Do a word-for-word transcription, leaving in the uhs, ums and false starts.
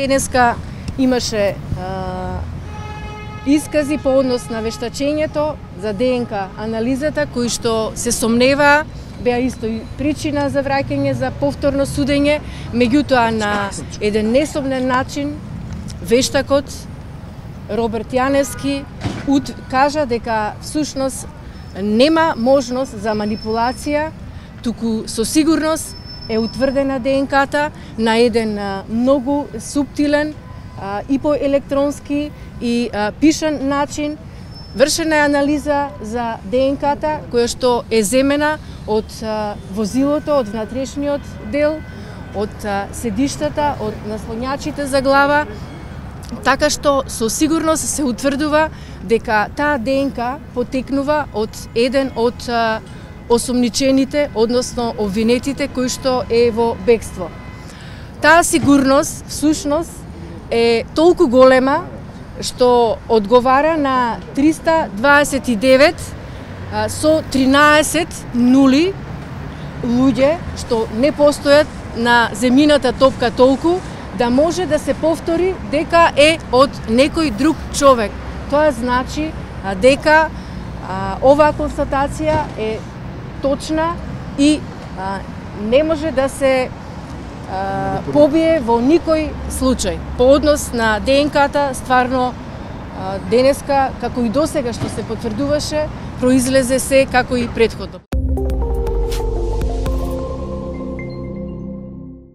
Денеска имаше а, искази по однос на вештачењето за ДНК анализата, кои што се сомневаа, беа исто и причина за враќање за повторно судење, меѓутоа на еден несомнен начин вештакот Роберт Јаневски кажа дека всушност нема можност за манипулација, туку со сигурност е утврдена ДНК-та на еден а, многу суптилен а, и по електронски и а, пишан начин. Вршена е анализа за ДНК-та која што е земена од а, возилото, од внатрешниот дел, од а, седиштата, од наслонјачите за глава, така што со сигурност се утврдува дека таа ДНК потекнува од еден од а, осомничените, односно обвинетите кои што е во бегство. Таа сигурност всушност е толку голема што одговара на триста дваесет и девет а, со тринаесет нули луѓе што не постојат на земјината топка толку да може да се повтори дека е од некој друг човек. Тоа значи а, дека а, оваа констатација е точна и а, не може да се а, побие во никој случај. По однос на ДНК-та, стварно а, денеска, како и досега што се потврдуваше, произлезе се како и претходно.